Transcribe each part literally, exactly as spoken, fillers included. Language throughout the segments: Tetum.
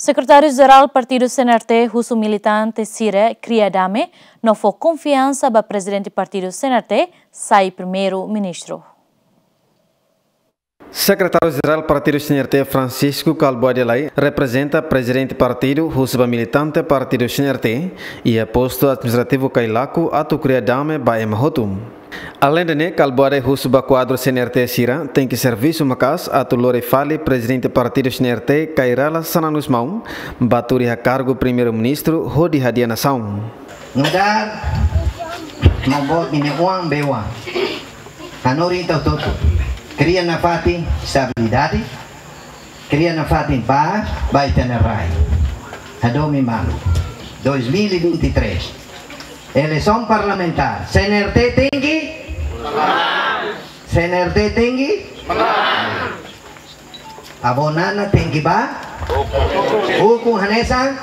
Sekretáriu-Jerál Partidu C N R T husu militante sira kria dame no fó konfiansa ba Prezidente Partidu C N R T sai Primeiru-Ministru. Sekretáriu-Jerál Partidu C N R T, Francisco Kalbuadi Lay, reprezenta Prezidente Partidu husu ba militante Partidu C N R T iha postu administrativu Cailaco atu kria dame ba ema hotu. Aleinde ne'e, Kalbuadi husu ba kuadru C N R T sira tenke servisu maka'as atu lori fali Prezidente Partidu C N R T, Kay Rala Xanana Gusmão, ba tuur iha kargu Primeiru-Ministru hodi hadi'a nasaun. Nu'udar maun boot ninia oan, bee-oan. Hanorin ita hotu-hotu. Kria nafatin estabilidade, kria nafatin pás ba ita-nia rai. Hadomi malu. Dois mil e vinte e três. Eleisaun parlamentár. C N R T tenke? C N R T tenke? Avó Nana tenke bá ukun hanesan?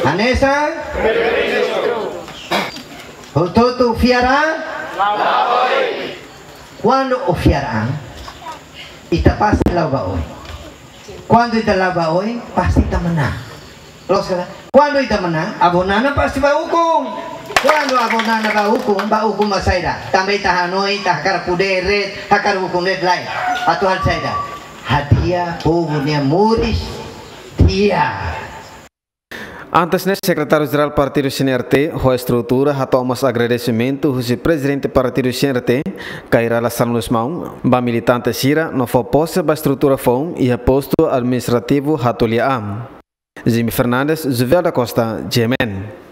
Hanesan? Hotu-hotu fiar an? Kuandu ó fiar an, ita pasti la'o ba oin. Kuandu ita la'o ba oin, pasti ita manán. Loos ka lae? Kuandu ita manán, avó Nana pasti bá ukun. Kuandu avó Nana bá ukun, bá ukun mak saida? Tanba ita hanoin, ita hakarak podér de'it, hakarak ukun de'it, lae. Atu halo saida? Hadi'a povu nia moris di'ak. Antes ne'e, Sekretáriu-Jerál Partidu C N R T ho estrutura hato'o mós agradesimentu husi Prezidente Partidu C N R T, Kay Rala Xanana Gusmão, ba militante sira no fó pose ba estrutura foun iha postu administrativu Hatuliaa. Jimmy Fernandes, Juvel da Costa, G M N.